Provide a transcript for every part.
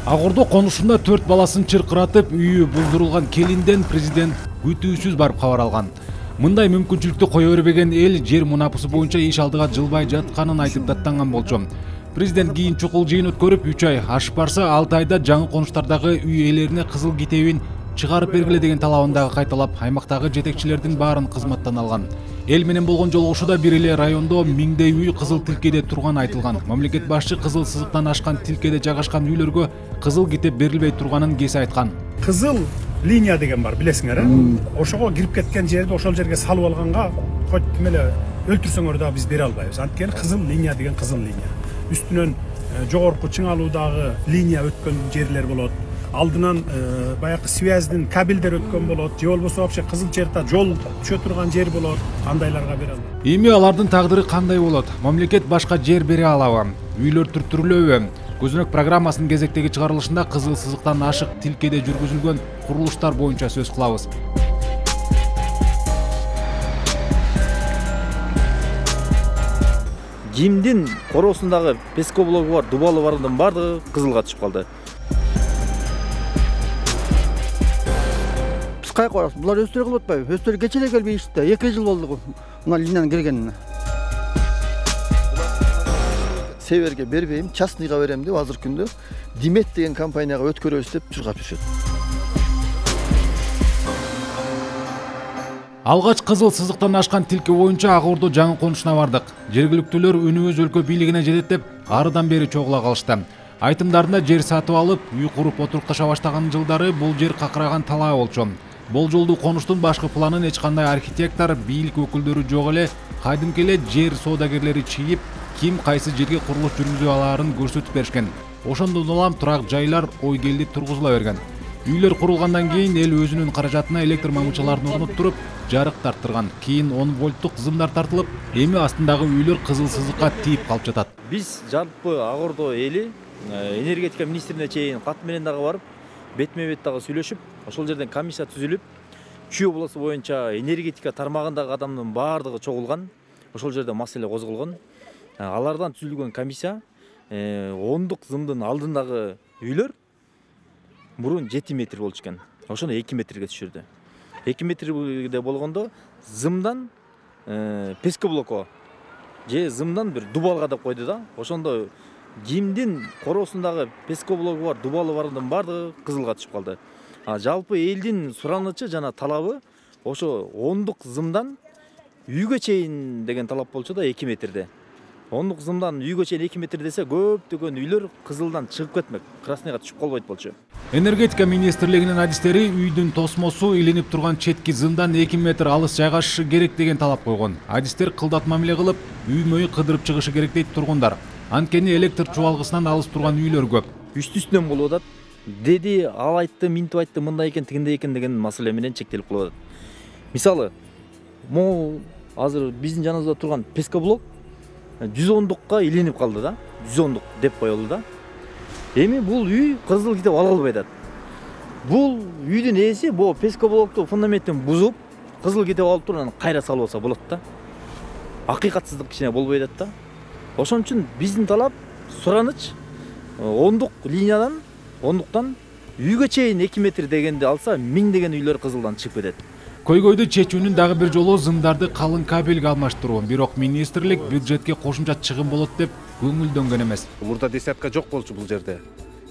Агордо конушунда 4 баласын чыркыратып, үйү булдурулган келинден президент күтүүсүз барып кабар алган. Мындай мүмкүнчүлүктү кое бербеген эл жер мунапысы боюнча иш алдыга жылбай жатканын айтып даттанган болчу. Президент кийин чукул жыйын өткөрүп, 3 ай ашып барса, 6 айда жаңы конуштардагы үй ээлерине кызыл китебин чыгарып бергиле деген талабын дагы кайталап, аймактагы жетекчилердин баарын кызматтан алган. Эл менен болгон жолугушууда бир эле райондо миңдей үй кызыл тилкеде турганы айтылган. Мамлекет башчы кызыл сызыктан ашкан тилкеде жайгашкан үйлөргө кызыл китеп берилбей турганын кесе айткан. Кызыл линия деген бар, билесиңер, э? Ошого кирип кеткен жерди ошол жерге салып алганга хоть ким эле өлтүрсөңөр дагы биз бере албайбыз. Анткени кызыл линия деген кызыл линия. Үстүнөн жогорку чыңалуудагы линия өткөн жерлер болот. Алдынан баягы связьдин кабелдер өткөн болот, же болбосо вообще кызыл черта жол түшө турган жер болот. Андайларга бере албайбыз. Эми алардын тагдыры кандай болот? Мамлекет башка жер бере алабы? Үйлөр түрттүрүлөбү? Көзөнөк программасынын кезектеги чыгарылышында кызыл сызыктан ашык тилкеде жүргүзүлгөн курулуштар боюнча сөз кылабыз. ЖИМдин короосундагы пескоблогу бар, дубалы бардын бардыгы кызылга түшүп калды. Биз кайка барабыз? Булар өздөрү кылып атпайбы? Өздөрү кече эле келбейишти да. 2 жыл болду мына линияны киргенине. Северге бербейм, частныйга берем деп азыр күндө Димет деген компанияга өткөрөбүз деп чуркап жүрүшөт. Алгач кызыл сызыктан ашкан тилке боюнча Агордо жаңы конушуна бардык. Жергиликтүүлөр үнүбүз өлкө бийлигине жетет деп арыдан бери чогула калышты. Айтымдарында жер сатып алып, үй куруп отурукташа баштаган жылдары бул жер какыраган талаа болчу. Болжолдуу конуштун башкы планын эч кандай архитектор, бийлик өкүлдөрү жок эле, кайдымкы эле жер соодагерлери чийип, ким кайсы жерге курулуш жүргүзө алаарын көрсөтүп беришкен. Ошондон улам турак жайлар ой келди тургузула берген. Үйлөр курулгандан кийин эл өзүнүн каражатына электр мамычаларын орноттуруп, жарык тарттырган. Кийин 10 вольттук зымдар тартылып, эми астындагы үйлөр кызыл сызыкка тийип калып жатат. Биз жалпы Агордо эли энергетика министрине чейин кат менен дагы барып, бетме бет дагы сүйлөшүп, ошол жерден комиссия түзүлүп, Чүй областы боюнча энергетика тармагындагы адамдын баардыгы чогулган. Ошол жерде маселе козголгон. Алардан түзүлгөн комиссия 10 зымдын алдындагы үйлөр мурун 7 метр болчу экен. Ошону 2 метрге түшүрдү. 2 метрде болгондо зымдан пескоблоко же зымдан бир дубалга деп койду да. Ошондо ЖИМдин короосундагы пескоблогу бар, дубалы бардын бардыгы кызылга түшүп калды. Жалпы элдин суранычы жана талабы ошо 10 зымдан үйгө чейин деген талап болчу да 2 метрде. 10 зымдан үйгө чейин 2 метр десе көптөгөн үйлөр кызылдан чыгып кетмек, красныйга түшүп калбайт болчу. Энергетика министрлигинин адистери үйдүн тосмосу илинип турган четки зымдан 2 метр алыс жайгашышы керек деген талап койгон. Адистер кылдат мамиле кылып, үй-мөйү кыдырып чыгышы керек дейт тургундар. Анткени электр чубалгысынан алыс турган үйлөр көп. Үстүнөн болуп атат. Деди, ал айтты, минтип айтты, мындай экен, тигиндей экен деген маселе менен чектелип калып атат. Мисалы, могу азыр биздин жаныбызда турган пескоблок 110-дукка илинип калды да. 110-дук деп коелду да. Эми бул үй кызыл китеп ала албай атат. Бул үйдүн ээси бул пескоблокту фундаментин бузуп, кызыл китеп алып туруп, анан кайра салып алса болот да. Акыйкатсыздык кичине болбой атат да. Ошон үчүн биздин талап, сураныч 10-дук линиядан, 10-дуктан үйгө чейин 2 метр дегенди алса, 1000 деген үйлөр кызылдан чыгып кетет. Көйгөйдү чечүүнүн дагы бир жолу зымдарды калың кабелге алмаштыруу. Бирок министрлик бюджетке кошумча чыгым болот деп көңүлдөнгөн эмес. Мурда десятка жок болчу бул жерде.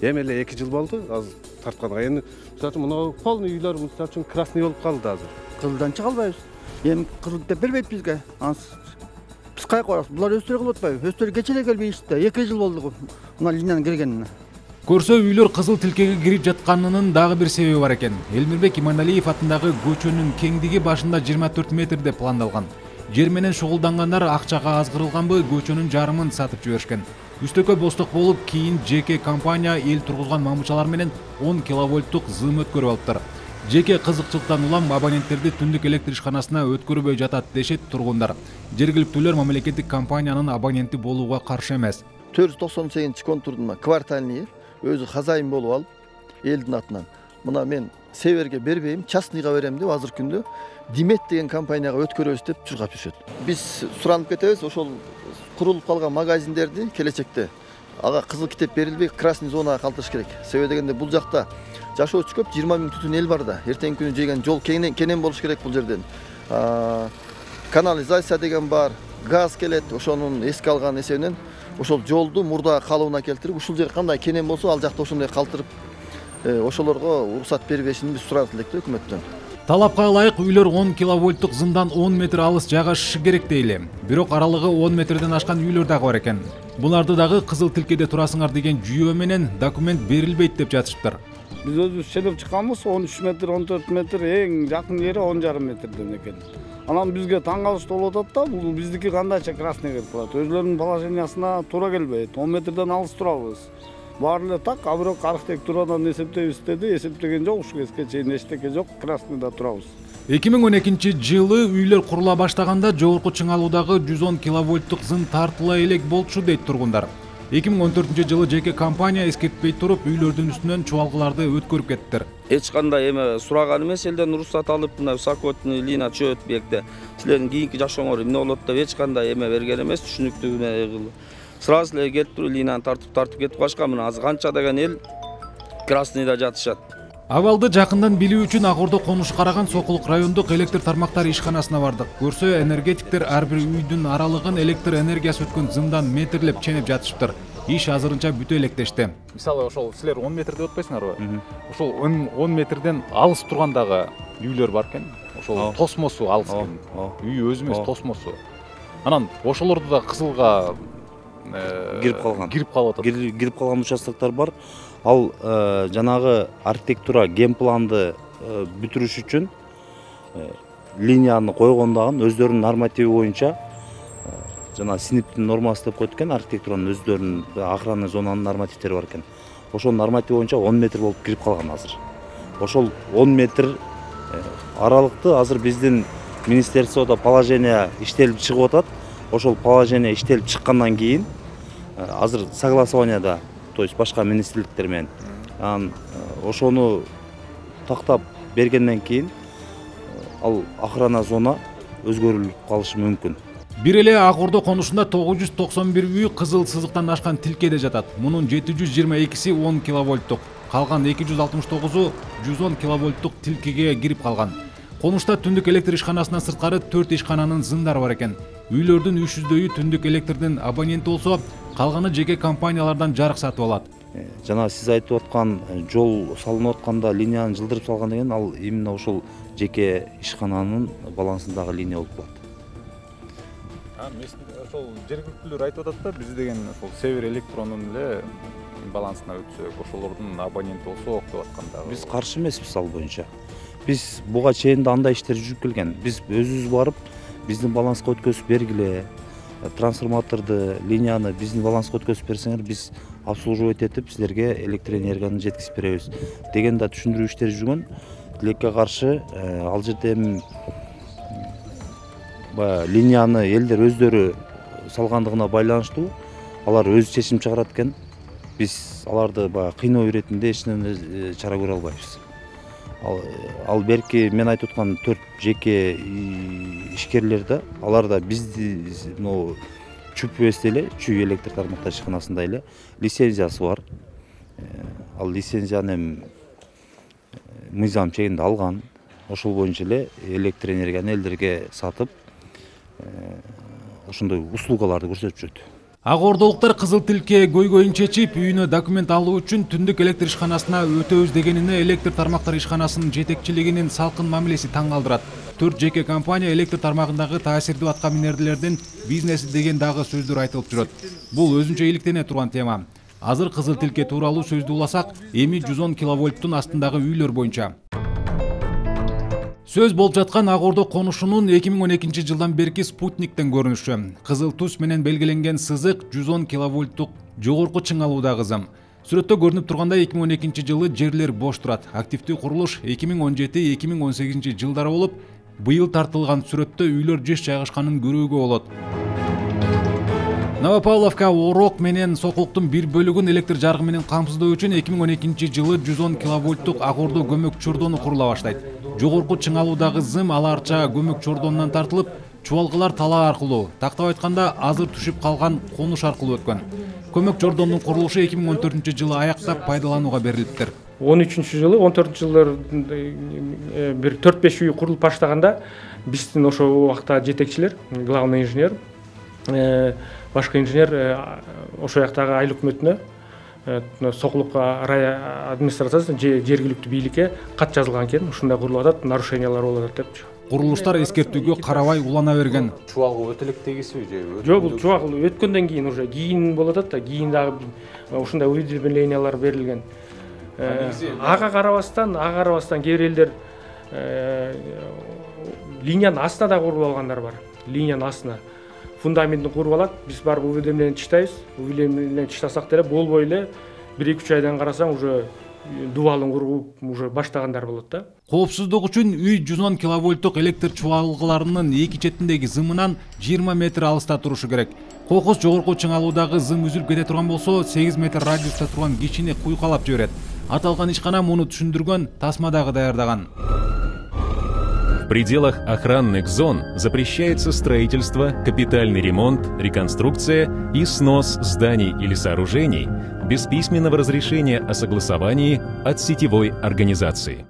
Эми эле 2 жыл болду азыр тартканга. Эми мисалы үчүн мына полный үйлөр мисалы үчүн красный болуп калды азыр. Кызылдан чыга албайбыз. Эми кызыл деп бербейт бизге. Биз кайка барабыз? Булар өздөрү кылып атпайбы? Өздөрү кече эле келбейишти да. 2 жыл болду мына линияны киргенине. Көрсө үйлөр кызыл тилкеге кирип жатканынын дагы бир себеби бар экен. Элмирбек Иманалиев атындагы көчөнүн кеңдиги башында 24 метр деп пландалган. Жер менен шугулдангандар акчага азгырылганбы көчөнүн жарымын сатып жиберишкен. Үстөккө босток болуп, кийин жеке компания эл тургузган мамычалар менен 10 киловольттук зым өткөрүп алыптыр. Жеке кызыкчылыктан улам абоненттерди түндүк электр ишканасына өткөрбөй жатат дешет тургундар. Жергиликтүүлөр мамлекеттик компаниянын абоненти болууга каршы эмес. 498 контурдун квартальный өзү хозяин болуп алып, элдин атынан. Мына мен Северге бербейм, частныйга берем деп азыр күндө Димет деген компанияга өткөрөбүз деп чуркап жүрүшөт. Биз суранып кетебиз, ошол курулуп калган магазиндерди келечекте ага кызыл китеп берилбей красный зонага калтырыш керек. Себеби дегенде бул жакта жашоочу көп, 20 000 түтүн эл бар да. Эртеңки күнү жеген жол кенен болуш керек бул жерден. Канализация деген бар, газ келет, ошонун эске алган эсебинен ошол жолду мурда калыбына келтирип, ушул жер кандай кенен болсо, ал жакта ошондой калтырып, ошолорго уруксат бербешин биз сурап элек да өкмөттөн. Талапка ылайык үйлөр 10 киловольттук зымдан 10 метр алыс жайгашышы керек дейли. Бирок аралыгы 10 метрден ашкан үйлөр дагы бар экен. Буларды дагы кызыл тилкеде турасыңар деген жүйө менен документ берилбейт деп жатышыптыр. Биз өзүбүз ченеп чыкканбыз 13 метр, 14 метр, эң жакын жери 10,5 метрден экен. Анан бизге таң калыштуу болуп атат да, бул биздики кандайча красный келип калат. Өзүлөрүнүн положениясына туура келбейт. 10 метрден алыс турабыз. Баары эле так, а бирок архитектурадан эсептейбиз деди, эсептеген жок, ушул кезге чейин эчтеке жок, красныйда турабыз. 2012 жылы үйлөр курула баштаганда жогорку чыңалуудагы 110 киловольттук зым тартыла элек болчу дейт тургундар. 2014 жылы жеке компания эскертпей туруп үйлөрдүн үстүнөн чубалгыларды өткөрүп кеттиктер. Эч кандай эме сураган эмес, элден уруксат алып, мына высокотный линия чөт бекте. Силердин кийинки жашооңор эмне болот деп эч кандай эме берген эмес, түшүнүктүү. Сразу эле келип туруп линияны тартып кетип калышкан. Мына азыр канча деген эл красныйда жатышат. Абалды жакындан билүү үчүн Ак Ордо конушу караган Сокулук райондук электр тармактары ишканасына бардык. Көрсө, энергетиктер ар бир үйдүн аралыгын электр энергиясы өткөн зымдан метрлеп ченеп жатышыптыр. Иш азырынча бүтө электешти. Мисалы ошол силер 10 метр деп атпайсыңарбы? Ошол 10 метрден алыс тургандагы үйлөр бар экен. Ошол тосмосу алыс экен. Үй өзү эмес, тосмосу. Анан ошолорду да кызылга кирип калган. Кирип калган участоктор бар. Ал жанагы архитектура генпланды бүтүрүш үчүн линияны койгондагы өздөрүнүн нормативи боюнча жана синиптин нормасы деп коет экен, архитектуранын өздөрүнүн охранный зонанын нормативдери бар экен. Ошол норматив боюнча 10 метр болуп кирип калган азыр. Ошол 10 метр аралыкты азыр биздин министерстводо положение иштелип чыгып атат. Ошол положение иштелип чыккандан кийин азыр согласованияда, то есть башка министрликтер менен ошону тактап бергенден кийин ал охрана зона өзгөрүлүп калышы мүмкүн. Бир эле Ак Ордо конушунда 991 үй кызыл сызыктан ашкан тилкеде жатат. Мунун 722си 10 киловольттук, калган 269у 110 киловольттук тилкеге кирип калган. Конушта түндүк электр ишканасынан сырткары 4 ишкананын зымдары бар экен. Үйлөрдүн 300дөйү түндүк электрдин абоненти болсо, калганы жеке компаниялардан жарык сатып алат. Жана сиз айтып аткан жол салынып атканда линияны жылдырып салган деген ал именно ошол жеке ишкананын балансындагы линия болуп калат. Ошол жергиликтүүлөр айтып атат да, биз деген ошол Север электронун эле балансына өтсөк, ошолордун абоненти болсок деп атканда. Биз каршы эмеспиз ал боюнча. Биз буга чейин да андай иштер жүрүп келген. Биз өзүбүз барып, биздин баланска өткөзүп бергиле, трансформаторду, линияны биздин баланска өткөзүп берсеңер, биз обслуживать этип силерге электр энергияны жеткизип беребиз деген да түшүндүрүү иштери жүргөн. Тилекке каршы ал жерде линияны элдер өздөрү салгандыгына байланыштуу алар өзү чечим чыгарат экен. Биз аларды кыйноо иретинде эч нерсе чара көрө албайбыз. Ал берки мен айтып аткан 4 жеке ишкерлер да, алар да бизди ЧУПС эле, чүй электр тармактар ишканасында эле лицензиясы бар. Ал лицензияны мыйзам чегинде алган. Ошол боюнча эле электр энергияны элдерге сатып, ошондой услугаларды көрсөтүп жүрөт. Ак Ордолуктар кызыл тилке көйгөйүн чечип, үйүнө документ алуу үчүн түндүк электр ишканасына өтөбүз дегенине электр тармактар ишканасынын жетекчилигинин салкын мамилеси таң калтырат. 4 жеке компания электр тармагындагы таасирдүү атка минердилердин бизнеси деген дагы сөздөр айтылып жүрөт. Бул өзүнчө иликтене турган тема. Азыр кызыл тилке тууралуу сөздү уласак, эми 110 киловольттун астындагы үйлөр боюнча. Сөз болуп жаткан Ак Ордо конушунун 2012 жылдан берки спутниктен көрүнүшү. Кызыл түс менен белгиленген сызык 110 киловольттук жогорку чыңалуудагы зым. Сүрөттө көрүнүп тургандай 2012 жылы жерлер бош турат. Активдүү курулуш 2017-2018 жылдары болуп, быйыл тартылган сүрөттө үйлөр жыш жайгашканын көрүүгө болот. Новопавловка, Орок менен Сокулуктун бир бөлүгүн электр жарыгы менен камсыздоо үчүн 2012 жылы 110 киловольттук Ак Ордо көмөк чордону курула баштайт. Жогорку чыңалуудагы зым аларча көмөк чордонунан тартылып, чубалгылар талаа аркылуу, тактап айтканда азыр түшүп калган конуш аркылуу өткөн. Көмөк жордондун курулушу 2014-жылы аяктап пайдаланууга берилиптир. 13-жылы, 14-жылдар бир 4-5 үй курулуп баштаганда биздин ошо убакта жетекчилер, главный инженер, башкы инженер ошо жактагы айыл өкмөтүнө, Сокулук рай администрациясына, жергиликтүү бийликке кат жазылган экен. Ушундай курулуп атат, нарушениялар болуп атат депчи. Курулуштар эскертүүгө карабай улана берген. Чубалга өтө элек тегисиби же? Жок, бул чубак өткөндөн кийин уже кийин болуп атат да, кийин дагы ушундай уведомлениялар берилген. Ага карабастан кээ бир элдер линиянын астына да куруп алгандар бар. Линиянын астына фундаментин куруп алат. Биз барып уведомление чыктайбыз. Уведомление чыктасак деле болбой эле 1-2 айдан карасаң уже дубалын куруп уже баштагандар болот да. Коопсуздук үчүн үй 110 киловольттук электр чубалгыларынын эки четиндеги зымынан 20 метр алыста турушу керек. Кокус жогорку чыңалуудагы зым үзүлүп кете турган болсо 8 метр радиуста турган кишини куйкалап жиберет. Аталган ишкана муну түшүндүргөн тасма дагы даярдаган. В пределах охранных зон запрещается строительство, капитальный ремонт, реконструкция и снос зданий или сооружений без письменного разрешения о согласовании от сетевой организации.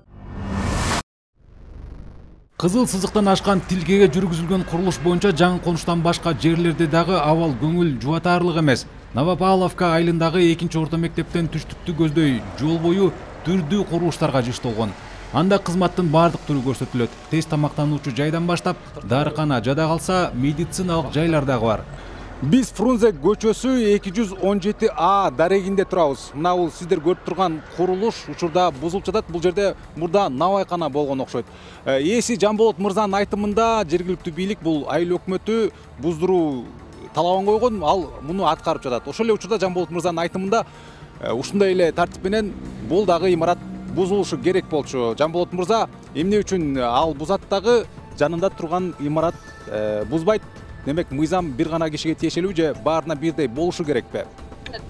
Кызыл сызыктан ашкан тилкеге жүргүзүлгөн курулуш боюнча жаңы конуштан башка жерлерде дагы абал көңүл жубатаарлык эмес. Новопавловка айылындагы 2-орто мектептен түштүктү көздөй жол бою түрдүү курулуштарга жышталган. Анда кызматтын бардык түрү көрсөтүлөт. Тез тамактануучу жайдан баштап, дарыкана, жада калса медициналык жайлар дагы бар. Биз Фрунзе көчөсү 217А дарегинде турабыз. Мына бул сиздер көрүп турган курулуш учурда бузулуп жатат. Бул жерде мурда навайкана болгон окшойт. Ээси Жамболот мырзанын айтымында жергиликтүү бийлик бул айыл өкмөтү буздуруу талабын койгон, ал муну аткарып жатат. Ошол эле учурда Жамболот мырзанын айтымында ушундай эле тартип менен бул дагы имарат бузулушу керек болчу. Жамболот мырза эмне үчүн ал бузат дагы жанында турган имарат бузбайт? Демек, мыйзам бир гана кишиге тиешелүү же баарына бирдей болушу керекпи?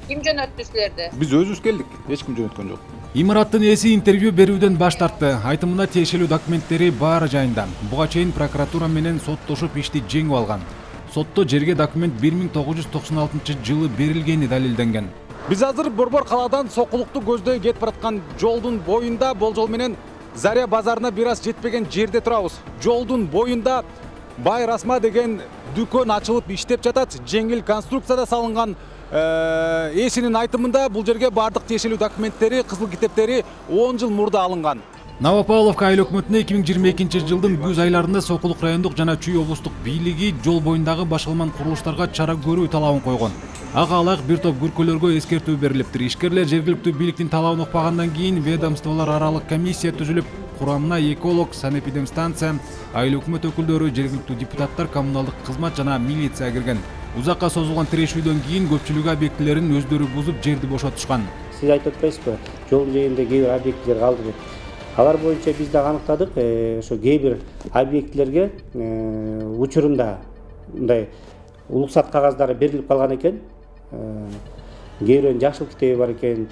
Ким жөнөттү силерди? Биз өзүбүз келдик, эч ким жөнөткөн жок. Имараттын ээси интервью берүүдөн баш тартты. Айтымында тиешелүү документтери баары жайында. Буга чейин прокуратура менен соттошуп ишти жеңип алган. Сотто жерге документ 1996-жылы берилгени далилденген. Биз азыр Борбор калаадан Сокулукту көздөй кетип бараткан жолдун боюнда, болжол менен Заря базарына бир аз жетпеген жерде турабыз. Жолдун боюнда Бай Расма деген дүкөн ачылып иштеп жатат. Жеңил конструкцияда салынган. Ээсинин айтымында бул жерге бардык тиешелүү документтери, кызыл китептери 10 жыл мурда алынган. Новопавловка айыл өкмөтүнө 2022-жылдын күз айларында Сокулук райондук жана Чүй облустук бийлиги жол боюндагы башалман курулуштарга чара көрүү талабын койгон. Ага алак бир топ күркөлөргө эскертүү берилиптир. Ишкерлер жергиликтүү бийликтин талабын укпагандан кийин ведомстволор аралык комиссия түзүлүп, курамына эколог, санэпидемстанция, айыл өкмөт өкүлдөрү, жергиликтүү депутаттар, коммуналдык кызмат жана милиция кирген. Узакка созулган тирешүүдөн кийин көпчүлүк объектилерин өздөрү бузуп жерди бошотушкан. Сиз айтып атпайсызбы? Жол жээгинде кээ бир объектилер калды деп. Алар боюнча биз дагы аныктадык, ошо кээ бир объектилерге учурунда мындай уруксат кагаздары берилип калган экен. Кээ бирөөнүн жакшылык китеби бар экен.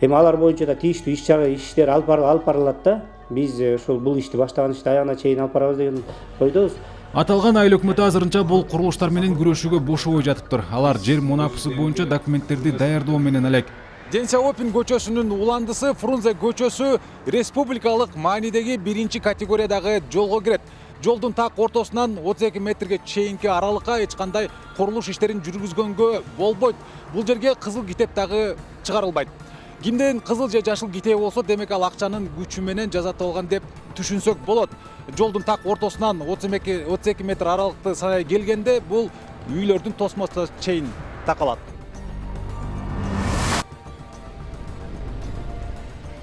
Эми алар боюнча да тийиштүү иштер алып барылат да. Биз ошол бул ишти баштаган ишти аягына чейин алып барабыз деген койдубуз. Аталган айыл өкмөтү азырынча бул курулуштар менен күрөшүүгө бошобой жатыптыр. Алар жер мунапысы боюнча документтерди даярдоо менен элек. Денсяопин көчөсүнүн уландысы Фрунзе көчөсү республикалык маанидеги 1-категориядагы жолго кирет. Жолдун так ортосунан 32 метрге чейинки аралыкка эч кандай курулуш иштерин жүргүзгөнгө болбойт. Бул жерге кызыл китеп дагы чыгарылбайт. Кимден кызыл же жашыл китеби болсо, демек ал акчанын күчү менен жасатылган деп түшүнсөк болот. Жолдун так ортосунан 32 метр аралыкты санай келгенде бул үйлөрдүн тосмосуна чейин такалат.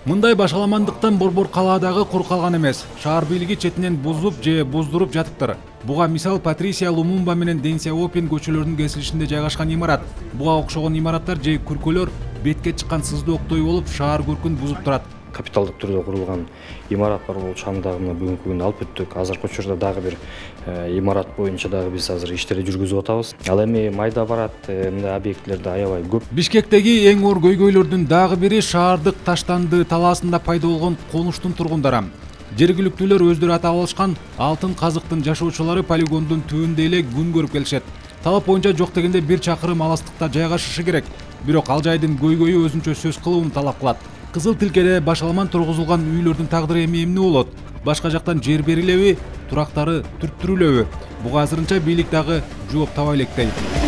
Мындай башаламандыктан Борбор калаадагы кур калган эмес. Шаар бийлиги четинен бузуп же буздуруп жатыптыр. Буга мисал Патрисия Лумумба менен Денсяопин көчөлөрүнүн кесилишинде жайгашкан имарат. Буга окшогон имараттар же күркөлөр бетке чыккан сыздооктой болуп, шаар көркүн бузуп турат. Капиталдык түрдө курулган имарат бар болчу, аны дагы бүгүнкү күндө алып өттүк. Азыркы учурда дагы бир имарат боюнча дагы биз азыр иштерди жүргүзүп атабыз. Ал эми майда барат, мындай объектлерде аябай көп. Бишкектеги эң оор көйгөйлөрдүн дагы бири шаардык Таштанды талаасында пайда болгон конуштун тургундары. Жергиликтүүлөр өздөрү атап алышкан алтын казыктын жашоочулары полигондун түбүндө эле күн көрүп келишет. Талап боюнча жок дегенде 1 чакырым алыстыкта жайгашышы керек. Бирок ал жайдын көйгөйү өзүнчө сөз кылууну талап кылат. Кызыл Тилкеде башаламан тургузулган үйлөрдүн тагдыры эмне болот? Башка жактан жер берилеби, турактары түрттүрүлөбү? Буга азырынча бийлик дагы жооп таба элек дейт.